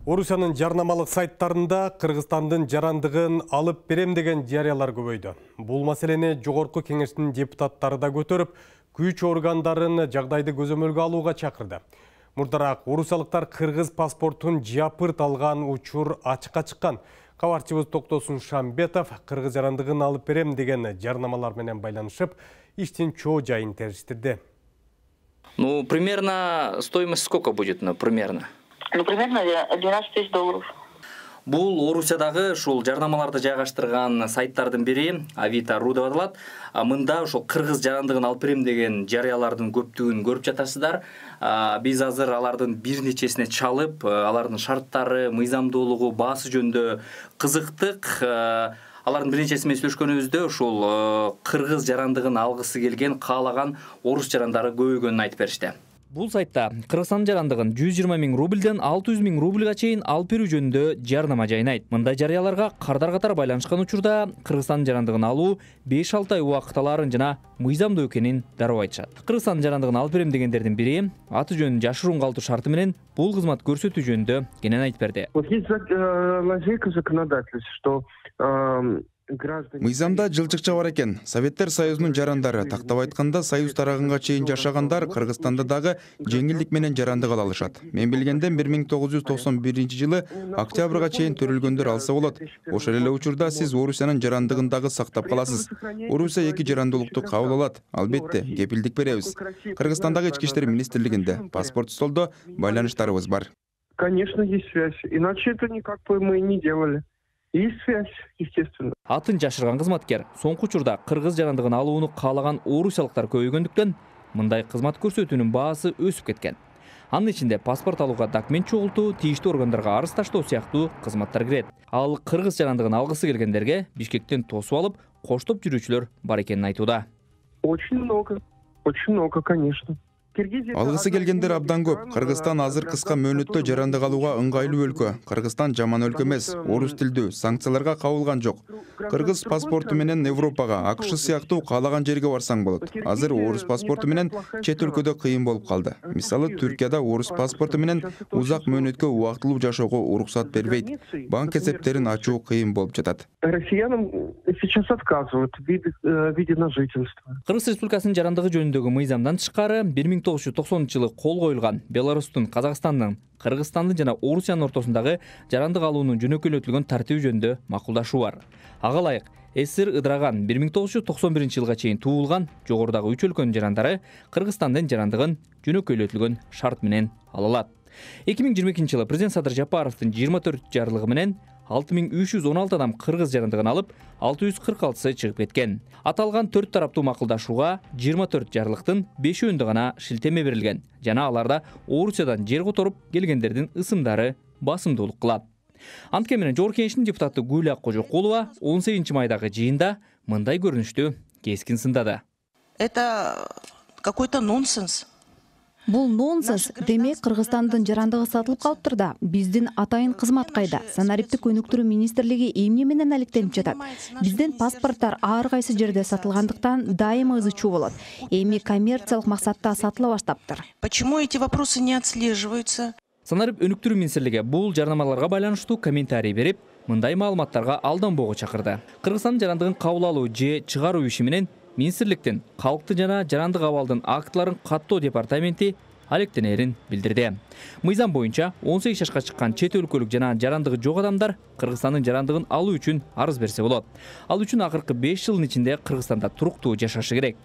Орусиянын жарнамалык сайттарында Кыргызстандын жарандыгын алып берем деген жарыялар көбөйдү. Бул маселени Жогорку Кеңештин депутаттары да көтөрүп, күч органдарын жагдайды көзөмөлгө алууга чакырды. Мурдараак орусиялыктар кыргыз паспортун жапырт алган учур ачыкка чыккан. Кабарчыбыз Токтосун Шамбетов кыргыз жарандыгын алып берем деген жарнамалар менен байланышып, иштин чоо жайын териштирди. Примерно стоимость сколько будет, примерно? Примерно 12 тысяч долларов. Бул Орусиядагы ушул жарнамаларды жайгаштырган сайттардын бири Авито.ру деп аталат. Мында ушул кыргыз жарандыгын алып берем деген жарыялардын көптүгүн көрүп жатасыздар. Биз азыр алардын бир нечесине чалып, алардын шарттары, мыйзамдуулугу, баасы жөнүндө кызыктык. Алардын бир нечеси менен сүйлөшкөнүбүздө ушул кыргыз жарандыгын алгысы келген, каалаган орус жарандары көбөйгөнүн айтып беришти. Бул сайтта Кыргызстандын жарандыгын 120 000 рубльден 600 000 рубльга чейин алып берүү жөнүндө жарнама жайнайт. Мындай жарыяларга кардар катар байланышкан учурда Кыргызстандын жарандыгын алуу 5-6 ай убакыт алаарын жана мыйзамдуу экенин дароо айтышат. Кыргызстандын жарандыгын алып берем дегендердин бири аты жөнүн жашыруун калтыруу шарты менен бул кызмат көрсөтүү жөнүндө кенен айтып берди. Мыйзамда жылчыкча бар экен. Советтер Союзунун жарандары, тактап айтканда Союз тарагынга чейин жашагандар Кыргызстанда дагы жеңилдик менен жарандык ала алышат. Мен билгенден 1991-жылы октябрга чейин төрөлгөндөр алса болот. Ошол эле учурда сиз Орусиянын жарандыгын дагы сактап каласыз. Орусия 2 жарандуулукту кабыл алат. Албетте, кепилдик беребиз. Кыргызстандагы ички иштер министрлигинде паспорт столдо байланыштарыбыз бар. Конечно, есть связь. Иначе это никак бы мы не делали. Есть связь, естественно. Атын жашырган кызматкер соңку учурда кыргыз жарандыгын алууну каалаган орусиялыктар көбөйгөндүктөн мындай кызмат көрсөтүүнүн баасы өсүп кеткен. Анын ичинде паспорт алууга документ чогултуу, тийиштүү органдарга арыз таштоо сыяктуу кызматтар кирет. Ал кыргыз жарандыгын алгысы келгендерге Бишкектен тосуп алып, коштоп жүрүүчүлөр бар экенин айтууда. Очень много, конечно. Алгысы келгендер абдан көп. Кыргызстан азыр кыска мөөнөттө жарандык алууга ыңгайлуу өлкө. Кыргызстан жаман өлкө эмес, орус тилдүү, санкцияларга кабылган жок. Кыргыз паспорту менен Европага, АКШ сыяктуу каалаган жерге барсаң болот. Азыр орус паспорту менен чет өлкөдө кыйын болуп калды. Мисалы, Түркияда орус паспорту менен узак мөөнөткө убактылуу жашоого уруксат бербейт. Банк эсептерин ачуу кыйын болуп жатат. Россиянам сейчас отказывают в виде на жительство. Кыргыз Республикасынын жарандыгы жөнүндөгү мыйзамдан тышкары 1990-жылы кол коюлган Беларустун, Казакстандын, Кыргызстандын жана Орусиянын ортосундагы жарандык алуунун жөнөкөйлөтүлгөн тартиби жөнүндө макулдашуу бар. Ага ылайык СССР ыдыраган 1991-жылга чейин туулган жогорудагы 3 өлкөнүн жарандары Кыргызстандын жарандыгын жөнөкөйлөтүлгөн шарт менен ала алат. 2022-жылы президент Садыр Жапаровдун 24 жарлыгы менен 6316 адам кыргыз жарандыгын алып, 646сы чыгып кеткен. Аталган 4 тараптуу макулдашууга 24 жарлыктын 5-өндө гана шилтеме берилген жана аларда Орусиядан жер которуп келгендердин ысымдары басымдуулук кылат. Анткени менен Жогорку Кеңештин депутаты Гүлия Кожокулова 18-майдагы жыйында мындай көрүнүштү кескин сындады. Это какой-то нонсенс. Бул нонсенс. Демек, Кыргызстандын жарандыгы сатылып калыптыр да. Биздин атайын кызмат кайда? Санариптик өнүктүрүү министрлиги эмне менен алектенип жатат? Биздин паспорттор ар кайсы жерде сатылгандыктан дайыма ызы чуу болот. Эми коммерциялык максатта сатыла баштаптыр. Почему эти вопросы не отслеживаются? Санарип өнүктүрүү министрлиги бул жарнамаларга байланыштуу комментарий берип, мындай маалыматтарга алданбоого чакырды. Кыргызстандын жарандыгын кабыл алуу же чыгаруу иши менен министрликтин калкты жана жарандык абалдын актыларын каттоо департаменти алектенерин билдирди. Мыйзам боюнча 18 жашка чыккан чет өлкөлүк жана жарандыгы жок адамдар Кыргызстандын жарандыгын алуу үчүн арыз берсе болот. Ал үчүн акыркы 5 жылдын ичинде Кыргызстанда туруктуу жашашы керек.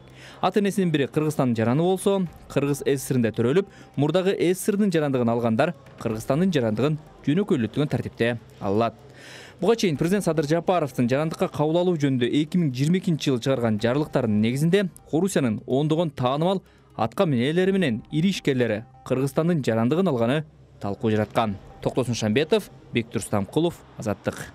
Ата-энесинин бири Кыргызстандын жараны болсо, Кыргыз СССРинде төрөлүп, мурдагы СССРдин жарандыгын алгандар Кыргызстандын жарандыгын жөнөкөйлөтүлгөн тартипте алат. Буга чейин президент Садыр Жапаровдун жарандыкка кабыл алуу жөнүндө 2022-жылы чыгарган жарлыктарынын негизинде Орусиянын ондогон таанымал атка минелери менен ири ишкерлери Кыргызстандын жарандыгын алганы талкуу жараткан. Токтосун Шамбетов, Бектур Стамкулов, Азаттык.